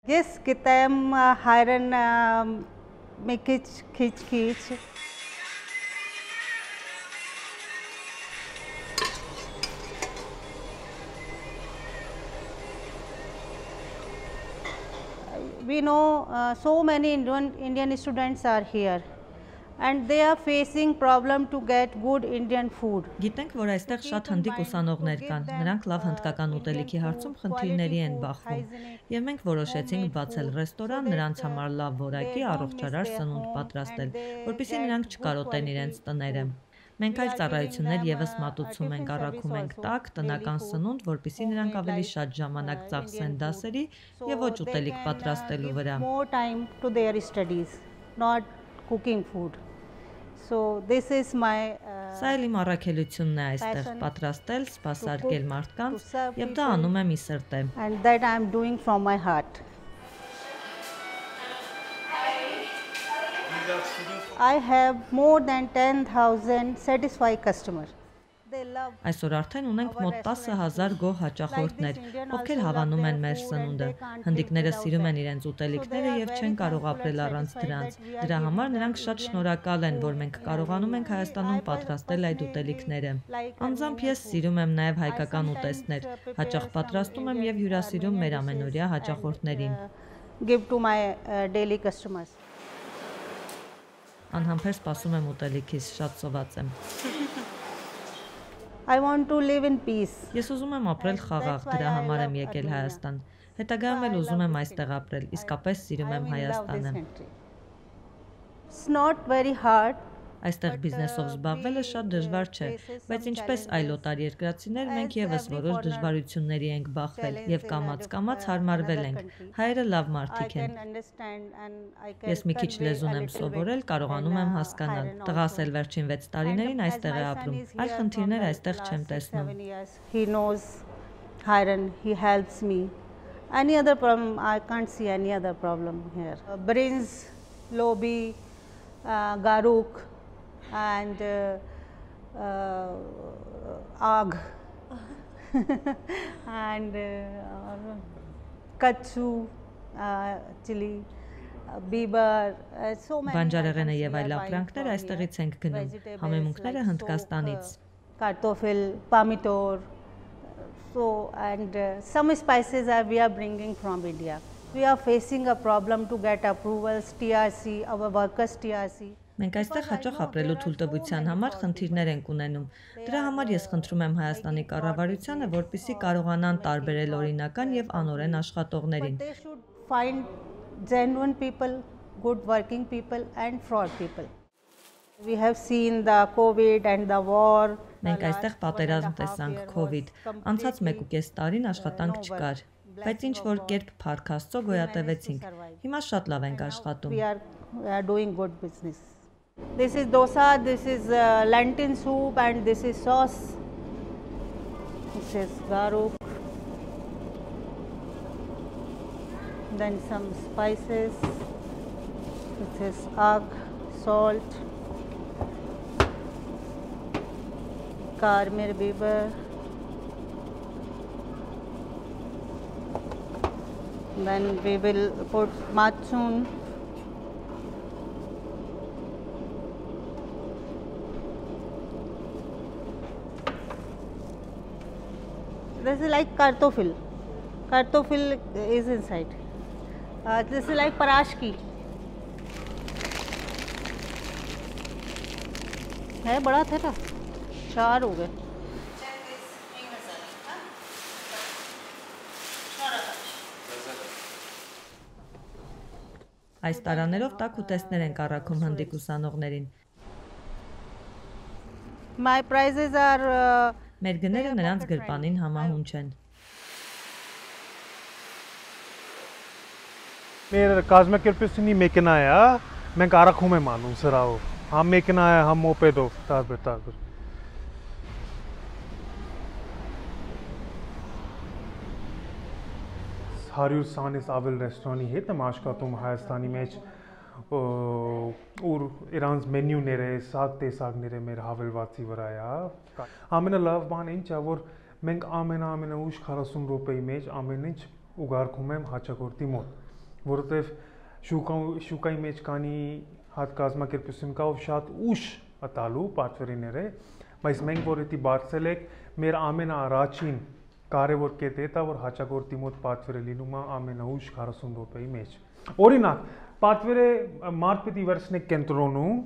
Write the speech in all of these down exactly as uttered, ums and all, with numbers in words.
Yes, gittem hayran mekic khiç khiç. We know uh, so many Indian, Indian students are here and they are facing problem to get good Indian food. Գիտենք, որ այստեղ շատ հնդիկ ուսանողներ կան, նրանք լավ հնդկական ուտելիքի հարցում խնդիրների են բախվում, եւ մենք որոշեցինք բացել ռեստորան, նրանց համար լավ որակի առողջարար սնունդ պատրաստել, որպեսզի նրանք չկարոտեն իրենց տները։ Մենք այլ ծառայություններ եւս մատուցում ենք, առաքում ենք տաք, տնական սնունդ, որպեսզի նրանք ավելի շատ ժամանակ ծախսեն դասերի եւ ոչ ուտելիք պատրաստելու վրա։ So this is my Սա էլ իմ առաքելությունն է այստեղ պատրաստել, սպասարկել մարդկանց եւ դա անում եմ ի սրտե։ And that I am doing from my heart. I have more than ten thousand satisfied customers. Այսօր արդեն ունենք մոտ տասը հազար գոհ հաճախորդներ, ովքեր հավանում են մեր սնունդը։ Հնդիկները սիրում են իրենց ուտելիքները եւ չեն կարող ապրել առանց դրանց։ Դրա համար նրանք շատ շնորհակալ են, որ մենք կարողանում ենք Հայաստանում պատրաստել այդ ուտելիքները։ Անձամբ ես սիրում եմ նաեւ հայկական ուտեստներ։ Հաճախ պատրաստում եմ եւ հյուրասիրում մեր ամենօրյա հաճախորդներին։ Give to my uh, daily customers. Անհամբեր սպասում եմ ուտելիքից, շատ սոված եմ։ I want to live in peace. Ես ուզում եմ ապրել խաղաղ, դրա համար եմ եկել Հայաստան։ Հետագայում էլ ուզում եմ այստեղ ապրել, իսկապես սիրում եմ Հայաստանը։ It's not very hard. Այստեղ բիզնեսով զբաղվելը շատ դժվար չէ, բայց ինչպես այլ օտարերկրացիներ մենք եւս որոշ դժվարությունների ենք բախվել եւ կամաց-կամաց հարմարվել ենք։ Հայերը լավ մարդիկ են։ Ես մի քիչ լեզուն եմ սովորել, կարողանում եմ հասկանալ։ Տղաս էլ վերջին վեց տարիներին այստեղ է ապրում։ Այլ խնդիրներ այստեղ չեմ տեսնում։ He knows Hayran, he helps me. Any other problem, I can't see any other problem here. Brains, Lobby, uh, Garuk and uh, uh, Agh and uh, Kachu, uh, chili, uh, Biber, uh, so many. Բանջարեղենը եւ այլ ապրանքներ այստեղից ենք գնում, համեմունքները Հնդկաստանից։ Kartoffel, Pomidor, so and uh, some spices are we are bringing from India. We are facing a problem to get approvals, T R C, our workers T R C. Մենք այստեղ հաճախ ապրելու թույլտվության համար խնդիրներ ենք ունենում։ Դրա համար ես խնդրում եմ Հայաստանի կառավարությանը, որպեսզի կարողանան տարբերել օրինական եւ անօրեն աշխատողներին։ They should find genuine people, good working people and fraud people. We have seen the COVID and the war. Մենք այստեղ պատերազմ տեսանք, COVID, անցած մեկ ու կես տարին աշխատանք չկար, բայց ինչ որ կերպ փառք Աստծո գոյատևեցինք։ Հիմա շատ լավ ենք աշխատում։ We are, we are doing good business. This is dosa, this is uh, lentil soup and this is sauce. This is garuk. Then some spices. This is agh, salt. Karmir biber. Then we will put matsun. This is like kartoffel. Kartoffel is inside. Uh, this is like parashki. है बड़ा था ना चार हो गए Այս տարաներով տաք ուտեստներ ենք առաքում հնդիկ ուսանողներին։ My prices are uh, Մեր գները նրանց գրպանին համահունչ են։ Մեր կազմակերպությունի մեքենա է, մենք առաքում եմ անում սրահով։ Համ մեքենա է, համ մոպեդով, տարբեր տարբեր։ հարյուր քանից ավել ռեստորանի հետ եմ աշխատում Հայաստանի մեջ, ուր իրանց մենյուները, սակ տեսակները մեր հավելվածի վրա է։ Ամենալավ բանը ինչ է, որ մենք ամենա ամենաուշ քառասուն րոպեի մեջ ամեն ինչ ուղարկում եմ հաճախորդի մոտ։ որովհետև շուկայի մեջ կանի հատ կազմակերպություն կա, ով շատ ուշ ատալու պատվերիները, բայց մենք որ դա բարձել ենք, մեր ամենաառաջին կարևոր կետը դա որ հաճախորդի մոտ պատվերը լինում է ամենաուշ քառասուն րոպեի մեջ։ Օրինակ, պատվերը մարդ պետք է վերցնեք կենտրոնում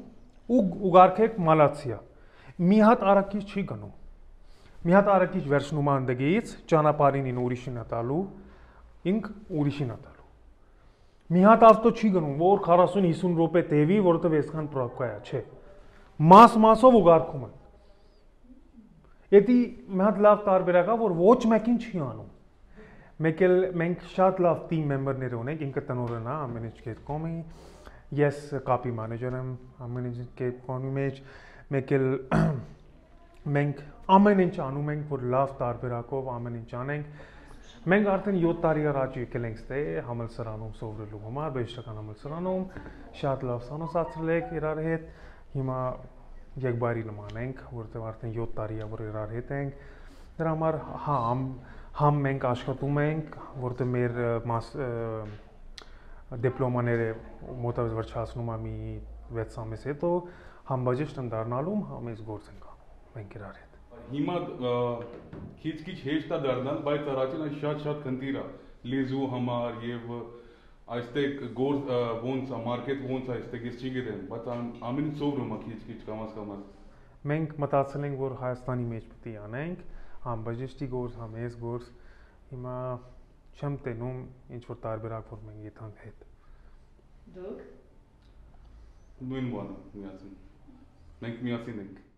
ու ուղարկեք մալացիա։ Մի հատ արակիչ չի գնում։ Մի հատ արակիչ վերցնում է անդգից, ճանապարհին ուրիշին ատալու, ինք ուրիշին ատալու։ Մի հատ ավտո չի գնում, որ քառասուն հիսուն րոպե տևի, որովհետև այսքան պրոբկա է, չէ։ Մաս մասով ուղարկում են։ Դա մի հատ լավ տարբերակ է, որ ոչ մեկին չի անում։ Մեկ էլ մենք շատ լավ team member-ներ ունենք, ինքը տնօրենն է ամեն ինչ կետկոմի, ես կապի մանեջեր եմ ամեն ինչ կետկոմի մեջ, մեկ էլ մենք ամեն ինչ անում ենք, որ լավ տարբերակով ամեն ինչ անենք։ Մենք արդեն յոթ տարի առաջ եկել ենք ստե համալսարանում սովորելու համար, բժշկական համալսարանում, շատ լավ սանոսացրել ենք իրար հետ, հիմա եկբայրի նման ենք, որովհետև արդեն յոթ տարի է որ իրար հետ ենք, դրա համար համ համ մենք աշխատում ենք, որովհետև մեր դիպլոմաները մոտավորապես վերջացնում է մի վեց ամիս հետո, համ բաժիշկ դառնալու, համ այս գործ ենք անում մենք իրար հետ։ Հիմա քիչ-քիչ հեշտ է դառնալ, բայց առաջին այն շատ-շատ խնդիր է լեզու համար եւ այստեղ գործ ոնց է, մարքեթ ոնց է, այստեղ ես չգիտեմ, բայց ամեն ինչ սովորում է քիչ-քիչ կամաց-կամաց։ Մենք մտածել ենք, որ Հայաստանի մեջ պետք է անենք, համ բժշկի գործ, համ այս գործ, հիմա չեմ տենում ինչ որ տարբերակ որ մենք եթանք հետ։ Դուք նույն բանը միասին։ Մենք միասին ենք։